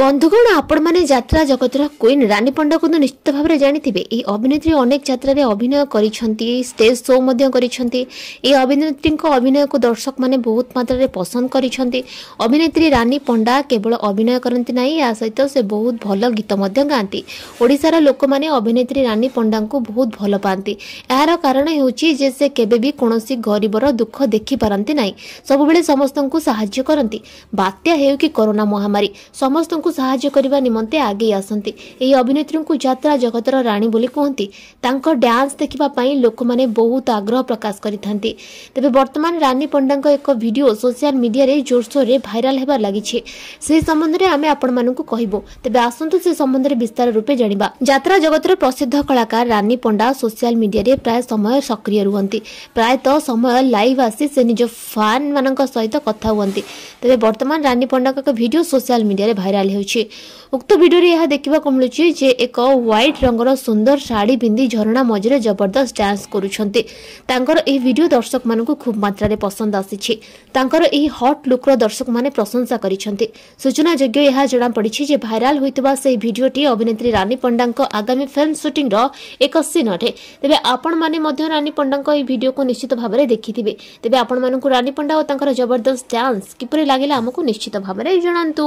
ବନ୍ଧୁଗଣ, ଆପଣମାନେ ଯାତ୍ରା ଜଗତର କୁଇନ୍ ରାନୀ ପଣ୍ଡାକୁ ତ ନିଶ୍ଚିତ ଭାବରେ ଜାଣିଥିବେ। ଏହି ଅଭିନେତ୍ରୀ ଅନେକ ଯାତ୍ରାରେ ଅଭିନୟ କରିଛନ୍ତି, ଷ୍ଟେଜ୍ ଶୋ ମଧ୍ୟ କରିଛନ୍ତି। ଏହି ଅଭିନେତ୍ରୀଙ୍କ ଅଭିନୟକୁ ଦର୍ଶକମାନେ ବହୁତ ମାତ୍ରାରେ ପସନ୍ଦ କରିଛନ୍ତି। ଅଭିନେତ୍ରୀ ରାନୀ ପଣ୍ଡା କେବଳ ଅଭିନୟ କରନ୍ତି ନାହିଁ, ଏହା ସହିତ ସେ ବହୁତ ଭଲ ଗୀତ ମଧ୍ୟ ଗାଆନ୍ତି। ଓଡ଼ିଶାର ଲୋକମାନେ ଅଭିନେତ୍ରୀ ରାନୀ ପଣ୍ଡାଙ୍କୁ ବହୁତ ଭଲ ପାଆନ୍ତି। ଏହାର କାରଣ ହେଉଛି ଯେ ସେ କେବେ ବି କୌଣସି ଗରିବର ଦୁଃଖ ଦେଖିପାରନ୍ତି ନାହିଁ, ସବୁବେଳେ ସମସ୍ତଙ୍କୁ ସାହାଯ୍ୟ କରନ୍ତି। ବାତ୍ୟା ହେଉ କି କରୋନା ମହାମାରୀ, ସମସ୍ତଙ୍କୁ ସାହାଯ୍ୟ କରିବା ନିମନ୍ତେ ଆଗେଇ ଆସନ୍ତି। ଏହି ଅଭିନେତ୍ରୀଙ୍କୁ ଯାତ୍ରା ଜଗତର ରାଣୀ ବୋଲି କୁହନ୍ତି। ତାଙ୍କ ଡ୍ୟାନ୍ସ ଦେଖିବା ପାଇଁ ଲୋକମାନେ ବହୁତ ଆଗ୍ରହ ପ୍ରକାଶ କରିଥାନ୍ତି। ତେବେ ବର୍ତ୍ତମାନ ରାନୀ ପଣ୍ଡାଙ୍କ ଏକ ଭିଡିଓ ସୋସିଆଲ ମିଡିଆରେ ଜୋରସୋରରେ ଭାଇରାଲ ହେବାରେ ଲାଗିଛି। ସେହି ସମ୍ବନ୍ଧରେ ଆମେ ଆପଣମାନଙ୍କୁ କହିବୁ। ତେବେ ଆସନ୍ତୁ ସେ ସମ୍ବନ୍ଧରେ ବିସ୍ତାର ରୂପେ ଜାଣିବା। ଯାତ୍ରା ଜଗତର ପ୍ରସିଦ୍ଧ କଳାକାର ରାନୀ ପଣ୍ଡା ସୋସିଆଲ ମିଡିଆରେ ପ୍ରାୟ ସମୟ ସକ୍ରିୟ ରୁହନ୍ତି। ପ୍ରାୟତଃ ସମୟ ଲାଇଭ୍ ଆସି ସେ ନିଜ ଫ୍ୟାନ୍ ମାନଙ୍କ ସହିତ କଥା ହୁଅନ୍ତି। ତେବେ ବର୍ତ୍ତମାନ ରାନୀ ପଣ୍ଡାଙ୍କ ଏକ ଭିଡିଓ ସୋସିଆଲ ମିଡିଆରେ ଭାଇରାଲ ହେଉଛି। ଉକ୍ତ ଭିଡିଓରେ ଏହା ଦେଖିବାକୁ ମିଳୁଛି ଯେ ଏକ ହ୍ୱାଇଟ୍ ରଙ୍ଗର ସୁନ୍ଦର ଶାଢ଼ୀ ପିନ୍ଧି ଝରଣା ମଝିରେ ଜବରଦସ୍ତ ଡ୍ୟାନ୍ସ କରୁଛନ୍ତି। ତାଙ୍କର ଏହି ଭିଡିଓ ଦର୍ଶକମାନଙ୍କୁ ଖୁବ୍ ମାତ୍ରାରେ ପସନ୍ଦ ଆସିଛି। ତାଙ୍କର ଏହି ହଟ୍ ଲୁକ୍ର ଦର୍ଶକମାନେ ପ୍ରଶଂସା କରିଛନ୍ତି। ସୂଚନାଯୋଗ୍ୟ, ଏହା ଜଣାପଡ଼ିଛି ଯେ ଭାଇରାଲ ହୋଇଥିବା ସେହି ଭିଡିଓଟି ଅଭିନେତ୍ରୀ ରାନୀ ପଣ୍ଡାଙ୍କ ଆଗାମୀ ଫିଲ୍ମ ସୁଟିଂର ଏକ ସିନ୍ ଅଟେ। ତେବେ ଆପଣମାନେ ମଧ୍ୟ ରାନୀ ପଣ୍ଡାଙ୍କ ଏହି ଭିଡିଓକୁ ନିଶ୍ଚିତ ଭାବରେ ଦେଖିଥିବେ। ତେବେ ଆପଣମାନଙ୍କୁ ରାନୀ ପଣ୍ଡା ଓ ତାଙ୍କର ଜବରଦସ୍ତ ଡ୍ୟାନ୍ସ କିପରି ଲାଗିଲା, ଆମକୁ ନିଶ୍ଚିତ ଭାବରେ ଜଣାନ୍ତୁ।